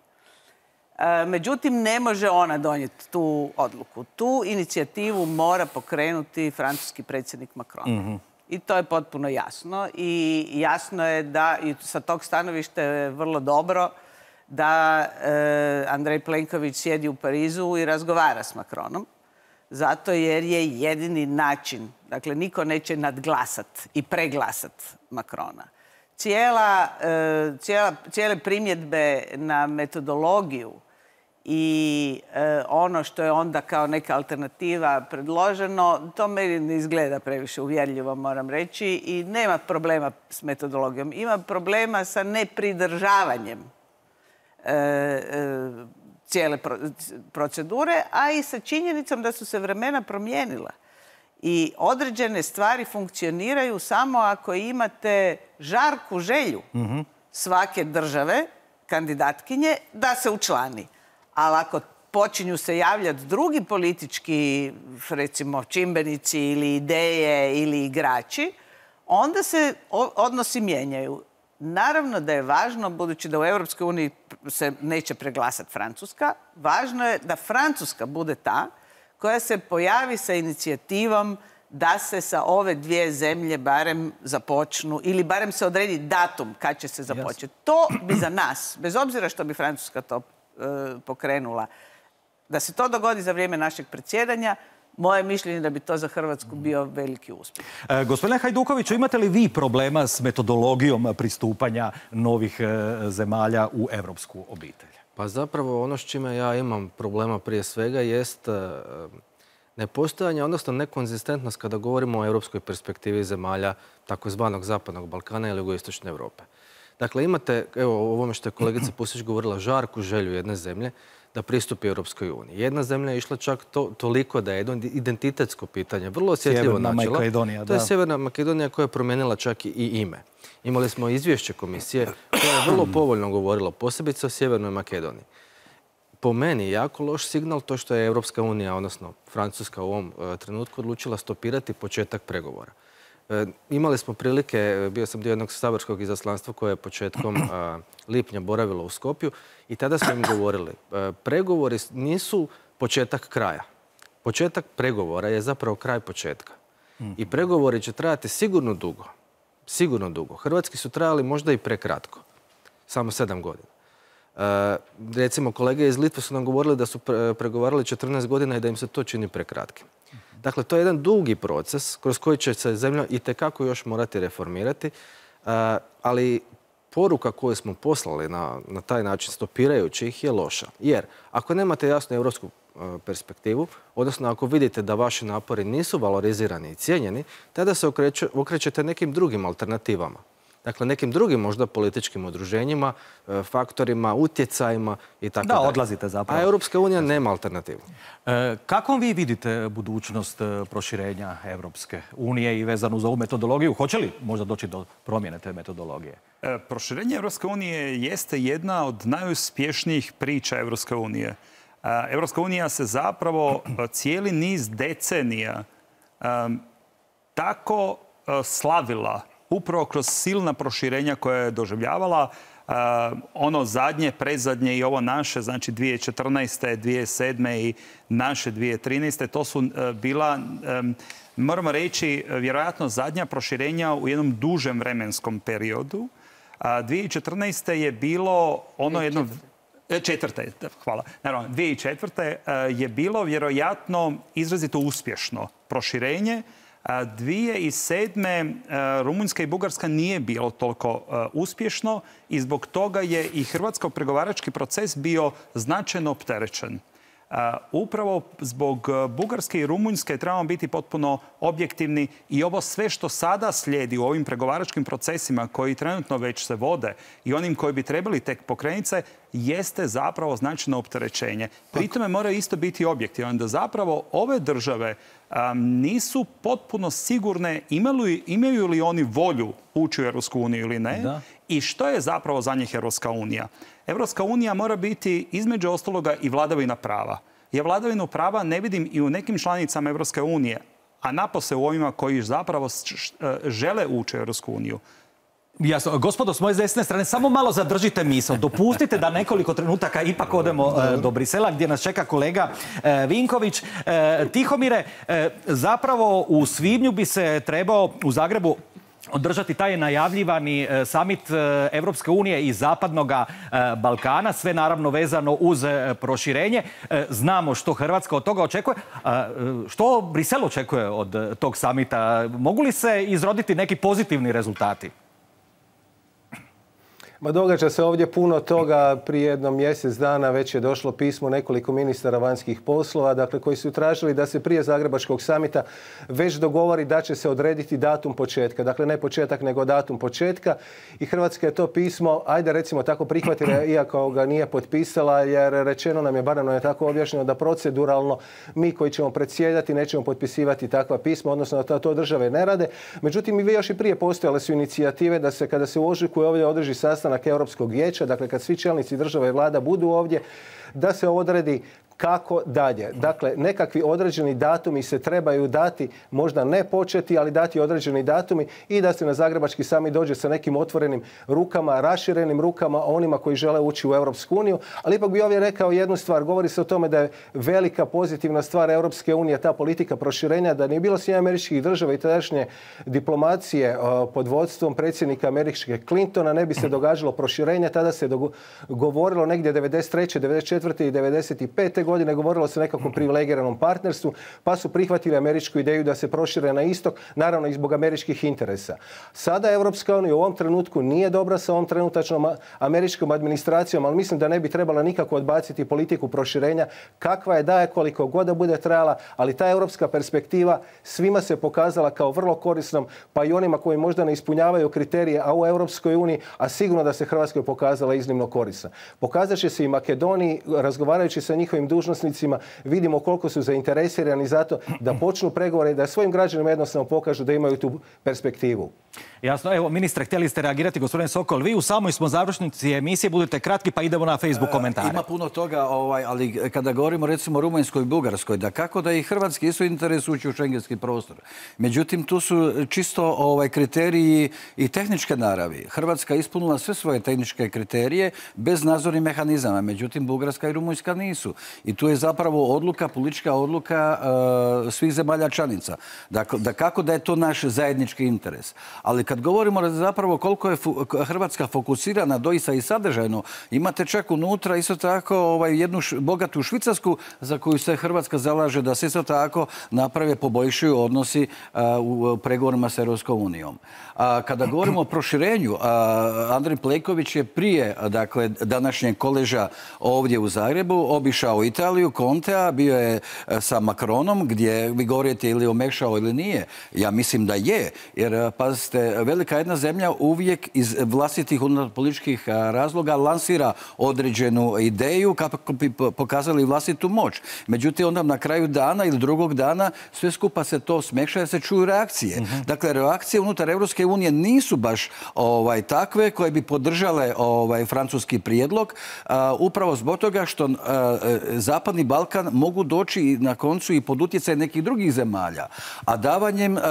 E, međutim, ne može ona donijeti tu odluku. Tu inicijativu mora pokrenuti francuski predsjednik Macron. Mm-hmm. I to je potpuno jasno. I jasno je da, i sa tog stanovišta je vrlo dobro, da e, Andrej Plenković sjedi u Parizu i razgovara s Macronom. Zato jer je jedini način, dakle, niko neće nadglasat i preglasat Macrona. Cijela, e, cijela, cijele primjedbe na metodologiju i e, ono što je onda kao neka alternativa predloženo, to meni ne izgleda previše uvjerljivo, moram reći, i nema problema s metodologijom. Ima problema sa nepridržavanjem e, e, cijele procedure, a i sa činjenicom da su se vremena promijenila. I određene stvari funkcioniraju samo ako imate žarku želju mm-hmm. svake države, kandidatkinje, da se učlani. Ali ako počinju se javljati drugi politički, recimo, čimbenici ili ideje ili igrači, onda se odnosi mijenjaju. Naravno da je važno, budući da u Europskoj uniji se neće preglasati Francuska, važno je da Francuska bude ta koja se pojavi sa inicijativom da se sa ove dvije zemlje barem započnu, ili barem se odredi datum kad će se započeti. To bi za nas, bez obzira što bi Francuska to e, pokrenula, da se to dogodi za vrijeme našeg predsjedanja, moje mišljenje da bi to za Hrvatsku bio veliki uspjeh. E, gospodine Hajdukoviću, imate li vi problema s metodologijom pristupanja novih e, zemalja u evropsku obitelj? Pa zapravo ono s čime ja imam problema prije svega jest e, nepostojanje, odnosno nekonzistentnost kada govorimo o europskoj perspektivi zemalja takozvanog Zapadnog Balkana ili jugoistočne Europe. Dakle, imate, evo, o ovome što je kolegica Pusić govorila, žarku želju jedne zemlje da pristupi Europskoj uniji. Jedna zemlja je išla čak to, toliko da je jedno identitetsko pitanje, vrlo osjetljivo načelo. To je Sjeverna Makedonija koja je promijenila čak i ime. Imali smo izvješće komisije koje je vrlo povoljno govorilo, posebice o Sjevernoj Makedoniji. Po meni je jako loš signal to što je Europska unija, odnosno Francuska u ovom e, trenutku odlučila stopirati početak pregovora. E, imali smo prilike, bio sam dio jednog saborskog izaslanstva koje je početkom e, lipnja boravilo u Skopju i tada smo im govorili, e, pregovori nisu početak kraja. Početak pregovora je zapravo kraj početka. I pregovori će trajati sigurno dugo. Sigurno dugo. Hrvatski su trajali možda i prekratko. Samo sedam godina. E, recimo, kolege iz Litve su nam govorili da su pre, pregovarali četrnaest godina i da im se to čini prekratkim. Dakle, to je jedan dugi proces kroz koji će se zemlja itekako još morati reformirati, e, ali poruka koju smo poslali na, na taj način stopirajući ih je loša. Jer ako nemate jasnu europsku e, perspektivu, odnosno ako vidite da vaši napori nisu valorizirani i cijenjeni, tada se okreće, okrećete nekim drugim alternativama. Dakle, nekim drugim možda političkim udruženjima, faktorima, utjecajima i tako dalje. Da, odlazite zapravo. A Europska unija nema alternativu. E, kako vi vidite budućnost proširenja Europske unije i vezanu za ovu metodologiju? Hoće li možda doći do promjene te metodologije? E, proširenje Europske unije jeste jedna od najuspješnijih priča Europske unije. E, Europska unija se zapravo cijeli niz decenija e, tako e, slavila upravo kroz silna proširenja koje je doživljavala. Uh, ono zadnje, predzadnje i ovo naše, znači dvije tisuće četrnaeste, dvije tisuće sedme i naše dvije tisuće trinaeste, to su uh, bila, um, moramo reći, vjerojatno zadnja proširenja u jednom dužem vremenskom periodu. Uh, dvije tisuće četrnaeste je bilo ono jedno... Četvrte, hvala. Naravno, dvije tisuće četvrte uh, je bilo vjerojatno izrazito uspješno proširenje. dvije tisuće sedme Rumunjska i Bugarska nije bilo toliko uspješno i zbog toga je i hrvatski pregovarački proces bio značajno opterećen. Upravo zbog Bugarske i Rumunjske trebamo biti potpuno objektivni i ovo sve što sada slijedi u ovim pregovaračkim procesima koji trenutno već se vode i onim koji bi trebali tek pokrenuti se, jeste zapravo značajno opterećenje. Pri tome moraju isto biti objektivni da zapravo ove države um, nisu potpuno sigurne imaju, imaju li oni volju ući u Europsku uniju ili ne da. I što je zapravo za njih Europska unija. Europska unija mora biti između ostaloga i vladavina prava. Ja vladavinu prava ne vidim i u nekim članicama Europske unije, a napose u ovima koji zapravo žele ući u Europsku uniju. Jasno. Gospodo, s moje desne strane, samo malo zadržite misao. Dopustite da nekoliko trenutaka ipak odemo e, do Brisela, gdje nas čeka kolega e, Vinković. E, Tihomire, e, zapravo u svibnju bi se trebao u Zagrebu održati taj najavljivani e, samit e, Evropske unije i Zapadnog e, Balkana, sve naravno vezano uz e, proširenje. E, znamo što Hrvatska od toga očekuje. A, e, što Brisel očekuje od e, tog samita? Mogu li se izroditi neki pozitivni rezultati? Ma događa se ovdje puno toga. Prije jedno mjesec dana već je došlo pismo nekoliko ministara vanjskih poslova, dakle koji su tražili da se prije Zagrebačkog samita već dogovori da će se odrediti datum početka. Dakle, ne početak, nego datum početka. I Hrvatska je to pismo, ajde recimo tako prihvatila, iako ga nije potpisala, jer rečeno nam je, barem nam je tako objašnjeno, da proceduralno mi koji ćemo predsjedati nećemo potpisivati takva pisma, odnosno da to države ne rade. Međutim, i još i prije postojale su inicijative da se kada se u ožujku ovdje održi sastanak Europskog vijeća, dakle kad svi čelnici države i vlada budu ovdje, da se odredi kako dalje. Dakle, nekakvi određeni datumi se trebaju dati, možda ne početi, ali dati određeni datumi i da se na Zagrebački samit dođe sa nekim otvorenim rukama, raširenim rukama onima koji žele ući u Europsku uniju. Ali ipak bi ovdje rekao jednu stvar. Govori se o tome da je velika pozitivna stvar Europske unije ta politika proširenja, da nije bilo Sjedinjenih Američkih Država i tadašnje diplomacije pod vodstvom predsjednika američke Clintona, ne bi se događalo proširenje. Tada se govorilo negdje devedeset treće, devedeset četvrte i devedeset pete godine, govorilo se o nekakvom privilegiranom partnerstvu, pa su prihvatili američku ideju da se prošire na istok, naravno i zbog američkih interesa. Sada Europska unija u ovom trenutku nije dobra sa ovom trenutačnom američkom administracijom, ali mislim da ne bi trebala nikako odbaciti politiku proširenja, kakva je daje, koliko god da bude trajala, ali ta europska perspektiva svima se pokazala kao vrlo korisnom, pa i onima koji možda ne ispunjavaju kriterije, a u Europskoj uniji, a sigurno da se Hrvatskoj pokazala iznimno korisna. Pokazat će se i Makedoniji, razgovarajući sa njihovim dužnosnicima, vidimo koliko su zainteresirani za to da počnu pregovore i da svojim građanima jednostavno pokažu da imaju tu perspektivu. Jasno. Evo, ministre, htjeli ste reagirati, gospodine Sokol. Vi u samoj smo završnici emisije, budite kratki pa idemo na Facebook komentare. Ima puno toga, ovaj, ali kada govorimo recimo o Rumunjskoj i Bugarskoj, da kako da i Hrvatski isto interes ući u šengenski prostor. Međutim, tu su čisto ovaj, kriteriji i tehničke naravi. Hrvatska ispunila sve svoje tehničke kriterije bez nadzornih mehanizama. Međutim, Bugarska i Rumunjska nisu. I tu je zapravo odluka, politička odluka uh, svih zemalja članica. Dakle, da kako da je to naš zajednički interes. Ali kad govorimo zapravo koliko je Hrvatska fokusirana doista i sadržajno, imate čak unutra isto tako ovaj, jednu š, bogatu Švicarsku za koju se Hrvatska zalaže da se isto tako naprave, poboljšuju odnosi uh, u pregovorima s Europskom unijom. A kada govorimo o proširenju, uh, Andrej Plenković je prije dakle, današnjeg koleža ovdje u Zagrebu obišao Italiju, Contea, bio je sa Macronom, gdje vi govorite ili omekšao ili nije. Ja mislim da je, jer pazite, velika jedna zemlja uvijek iz vlastitih političkih razloga lansira određenu ideju kako bi pokazali vlastitu moć. Međutim, onda na kraju dana ili drugog dana sve skupa se to smekša jer se čuju reakcije. Uh-huh. Dakle, reakcije unutar Europske unije nisu baš ovaj, takve koje bi podržale ovaj, francuski prijedlog, uh, upravo zbog toga što uh, Zapadni Balkan mogu doći na koncu i pod utjecaj nekih drugih zemalja. A davanjem uh,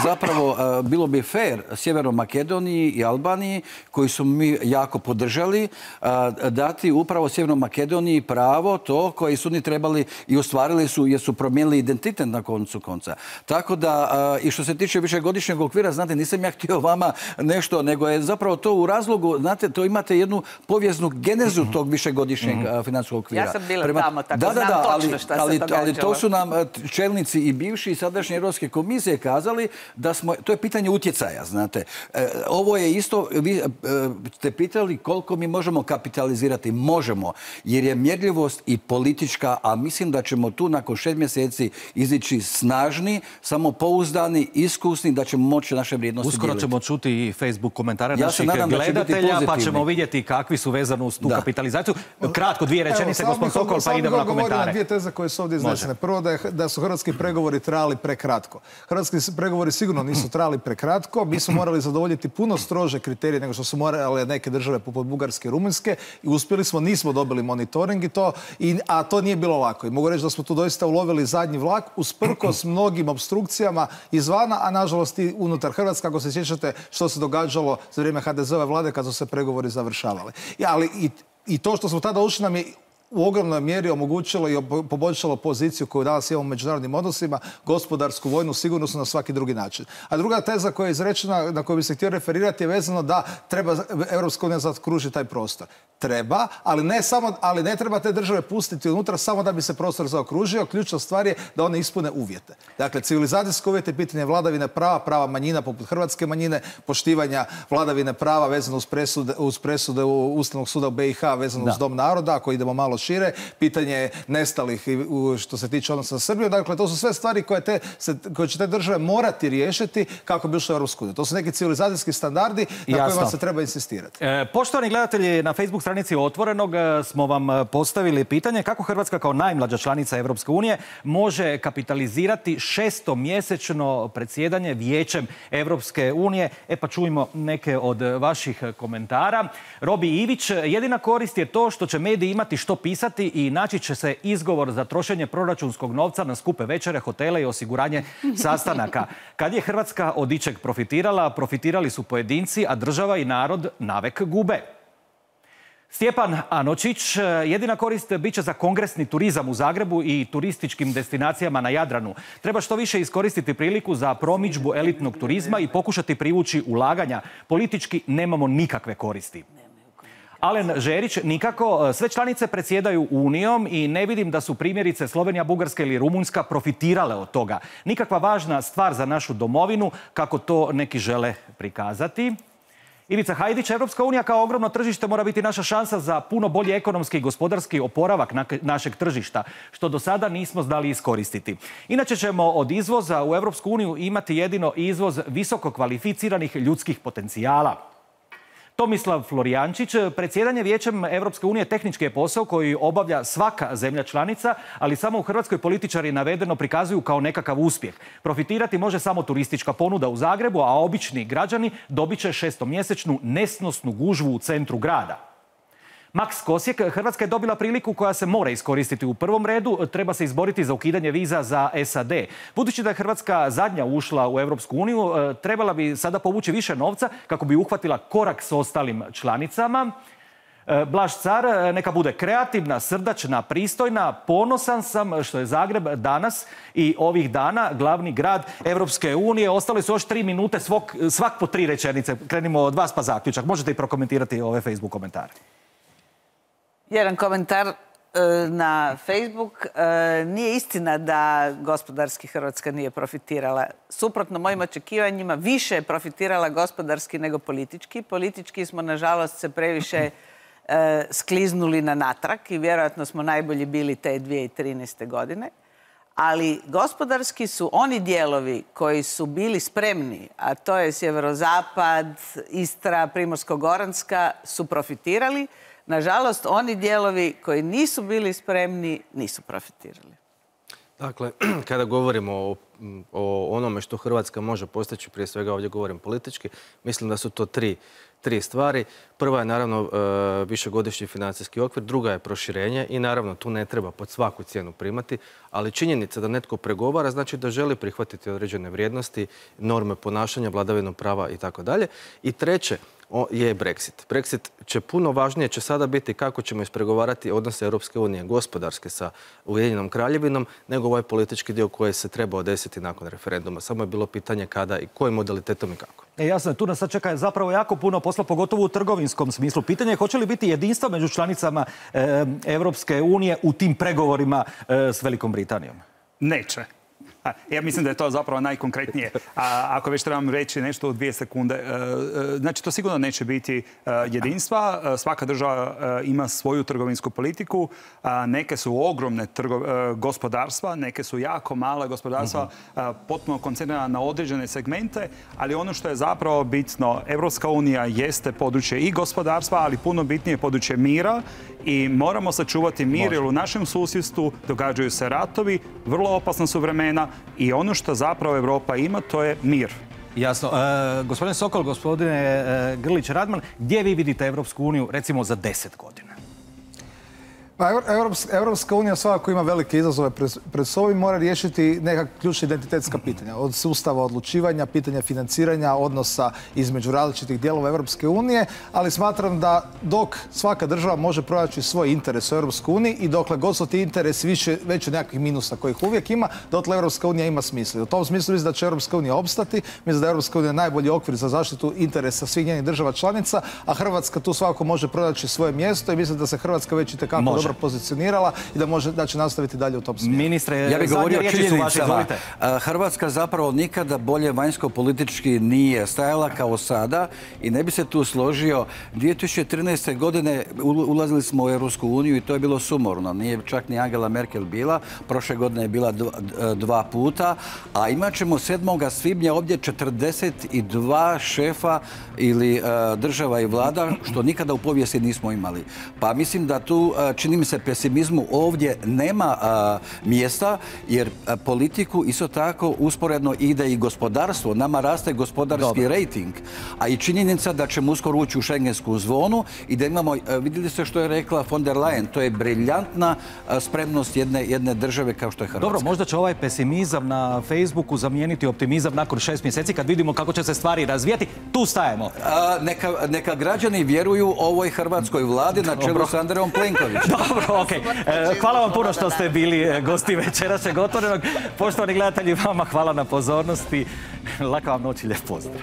zapravo uh, bilo bi fair Sjevernoj Makedoniji i Albaniji, koji su mi jako podržali, uh, dati upravo Sjevernoj Makedoniji pravo to koji su oni trebali i ostvarili su jer su promijenili identitet na koncu konca. Tako da, uh, i što se tiče višegodišnjeg okvira, znate, nisam ja htio vama nešto, nego je zapravo to u razlogu, znate, to imate jednu povijesnu genezu tog višegodišnjeg uh, financijskog okvira. Ja sam bila Prema... tamo, tako da, znam da, da, točno šta ali, se događalo. Ali to su nam čelnici i bivši i sadašnje Europske komisije kazali da smo, to je pitanje utjecaja, znate. znate. Ovo je isto, vi ste pitali koliko mi možemo kapitalizirati. Možemo, jer je mjerljivost i politička, a mislim da ćemo tu nakon šest mjeseci izići snažni, samopouzdani, iskusni, da ćemo moći naše vrijednosti Uskoro dijeliti. ćemo čuti i Facebook komentare Ja naših gledatelja, pa ćemo vidjeti kakvi su vezani uz tu Da. kapitalizaciju. Kratko, dvije rečenice, gospodin Sokol, pa idemo na komentare. Na dvije teze koje su ovdje iznesene. Prvo da, je, da su hrvatski pregovori trajali prekratko. Hrvatski pregovori sigurno nisu trajali prekratko. Mi smo morali zadovoljiti puno strože kriterije nego što su morale neke države poput Bugarske i Rumunjske i uspjeli smo, nismo dobili monitoring i to, i, a to nije bilo lako. I mogu reći da smo tu doista ulovili zadnji vlak usprkos mnogim obstrukcijama izvana, a nažalost i unutar Hrvatske, ako se sjećate što se događalo za vrijeme ha de ze ove vlade kad su se pregovori završavali. I, ali i, i to što smo tada ušli nam je u ogromnoj mjeri omogućilo i poboljšalo poziciju koju danas imamo u međunarodnim odnosima, gospodarsku, vojnu, sigurnosnu na svaki drugi način. A druga teza koja je izrečena, na koju bi se htio referirati, je vezano da treba Europska unija zaokružiti taj prostor. Treba, ali ne, samo, ali ne treba te države pustiti unutra samo da bi se prostor zaokružio. Ključna stvar je da one ispune uvjete. Dakle, civilizacijske uvjete, pitanje vladavine prava, prava manjina poput hrvatske manjine, poštivanja vladavine prava vezano uz presude, uz presude Ustavnog suda u be i ha vezano uz Dom naroda, ako idemo malo šire, pitanje nestalih što se tiče odnosa sa Srbijom. Dakle, to su sve stvari koje, te, koje će te države morati riješiti kako bi ušle u Europsku uniju. To su neki civilizacijski standardi na Jasno. kojima se treba insistirati. E, poštovani gledatelji, na Facebook stranici Otvorenog smo vam postavili pitanje kako Hrvatska kao najmlađa članica Europske unije može kapitalizirati šestomjesečno predsjedanje Vijećem Europske unije. E pa čujmo neke od vaših komentara. Robi Ivić, jedina korist je to što će mediji imati što pisati i naći će se izgovor za trošenje proračunskog novca na skupe večere, hotele i osiguranje sastanaka. Kad je Hrvatska od ičeg profitirala, profitirali su pojedinci, a država i narod navek gube. Stjepan Anočić, jedina korist bit će za kongresni turizam u Zagrebu i turističkim destinacijama na Jadranu. Treba što više iskoristiti priliku za promidžbu elitnog turizma i pokušati privući ulaganja. Politički nemamo nikakve koristi. Alen Žerić, nikako, sve članice predsjedaju Unijom i ne vidim da su primjerice Slovenija, Bugarska ili Rumunjska profitirale od toga. Nikakva važna stvar za našu domovinu, kako to neki žele prikazati. Ivica Hajdić, Europska unija kao ogromno tržište mora biti naša šansa za puno bolji ekonomski i gospodarski oporavak našeg tržišta, što do sada nismo znali iskoristiti. Inače ćemo od izvoza u Europsku uniju imati jedino izvoz visoko kvalificiranih ljudskih potencijala. Tomislav Florijančić, predsjedanje Vijećem Europske unije tehnički je posao koji obavlja svaka zemlja članica, ali samo u Hrvatskoj političari navedeno prikazuju kao nekakav uspjeh. Profitirati može samo turistička ponuda u Zagrebu, a obični građani dobit će šestomjesečnu nesnosnu gužvu u centru grada. Max Kosijek, Hrvatska je dobila priliku koja se mora iskoristiti u prvom redu. Treba se izboriti za ukidanje viza za es a de. Budući da je Hrvatska zadnja ušla u Europsku uniju, trebala bi sada povući više novca kako bi uhvatila korak s ostalim članicama. Blaž Car, neka bude kreativna, srdačna, pristojna. Ponosan sam što je Zagreb danas i ovih dana glavni grad Europske unije. Ostali su još tri minute, svak, svak po tri rečenice. Krenimo od vas pa zaključak. Možete i prokomentirati ove Facebook komentare. Jedan komentar na Facebook. Nije istina da gospodarski Hrvatska nije profitirala. Suprotno mojim očekivanjima, više je profitirala gospodarski nego politički. Politički smo, nažalost, se previše skliznuli na natrag i vjerojatno smo najbolji bili te dvije tisuće trinaeste. godine. Ali gospodarski su oni dijelovi koji su bili spremni, a to je sjeverozapad, Istra, Primorsko-goranska, su profitirali. Nažalost, oni dijelovi koji nisu bili spremni, nisu profitirali. Dakle, kada govorimo o, o onome što Hrvatska može postići, prije svega ovdje govorim politički, mislim da su to tri, tri stvari. Prva je naravno višegodišnji financijski okvir, druga je proširenje i naravno tu ne treba pod svaku cijenu primati, ali činjenica da netko pregovara znači da želi prihvatiti određene vrijednosti, norme ponašanja, vladavinu prava i tako dalje. I treće je Brexit. Brexit će puno važnije će sada biti kako ćemo ispregovarati odnose Europske unije gospodarske sa Ujedinjenom Kraljevinom, nego ovaj politički dio koji se trebao desiti nakon referenduma. Samo je bilo pitanje kada i kojim modalitetom i kako. E, jasno, tu nas sad čeka zapravo jako puno posla, pogotovo u trgovinskom smislu. Pitanje je hoće li biti jedinstva među članicama e, Europske unije u tim pregovorima e, s Velikom Britanijom? Neće. Ja mislim da je to zapravo najkonkretnije. A ako već trebam reći nešto u dvije sekunde, znači to sigurno neće biti jedinstva. Svaka država ima svoju trgovinsku politiku. Neke su ogromne gospodarstva, neke su jako male gospodarstva, potpuno koncentrirana na određene segmente, ali ono što je zapravo bitno, Evropska unija jeste područje i gospodarstva, ali puno bitnije područje mira i moramo sačuvati mir jer u našem susjedstvu događaju se ratovi, vrlo opasna su vremena i ono što zapravo Europa ima, to je mir. Jasno. E, gospodine Sokol, gospodine e, Grlić-Radman, gdje vi vidite Evropsku uniju, recimo, za deset godina? Pa Evropska unija svakako ima velike izazove pred sobom i mora riješiti neka ključna identitetska pitanja. Od sustava odlučivanja, pitanja financiranja, odnosa između različitih dijelova Evropske unije, ali smatram da dok svaka država može pronaći svoj interes u Evropskoj uniji i dokle god su ti interesi više, veći od nekakvih minusa kojih uvijek ima, dotle Evropska unija ima smisla. U tom smislu mislim da će Evropska unija opstati, mislim da je Evropska unija najbolji okvir za zaštitu interesa svih njenih država članica, a Hrvatska tu svakako može pronaći svoje mjesto i mislim da se Hrvatska već itekako dobro pozicionirala i da može da će nastaviti dalje u tom smjeru. Ministre, ja bih govorio o činjenicama. Hrvatska zapravo nikada bolje vanjsko-politički nije stajala kao sada i ne bi se tu složio. dvije tisuće trinaeste. godine ulazili smo u Europsku uniju i to je bilo sumorno. Nije čak ni Angela Merkel bila. Prošle godine je bila dva puta. A imat ćemo sedmoga svibnja ovdje četrdeset dva šefa ili država i vlada, što nikada u povijesti nismo imali. Pa mislim da tu čini mi se pesimizmu ovdje nema a, mjesta, jer a, politiku isto tako usporedno ide i gospodarstvo. Nama raste gospodarski rejting, a i činjenica da ćemo uskoro ući u šengensku zonu i da imamo, a, vidjeli ste što je rekla von der Leyen, to je briljantna a, spremnost jedne, jedne države kao što je Hrvatska. Dobro, možda će ovaj pesimizam na Facebooku zamijeniti optimizam nakon šest mjeseci kad vidimo kako će se stvari razvijati. Tu stajemo. A, neka, neka građani vjeruju ovoj hrvatskoj vladi na čelu s Andrejom Plenkovićem. Dobro, okej. Hvala vam puno što ste bili gosti večerašnjeg Otvorenog. Poštovani gledatelji, vama hvala na pozornosti. Laka vam noć i lijep pozdrav.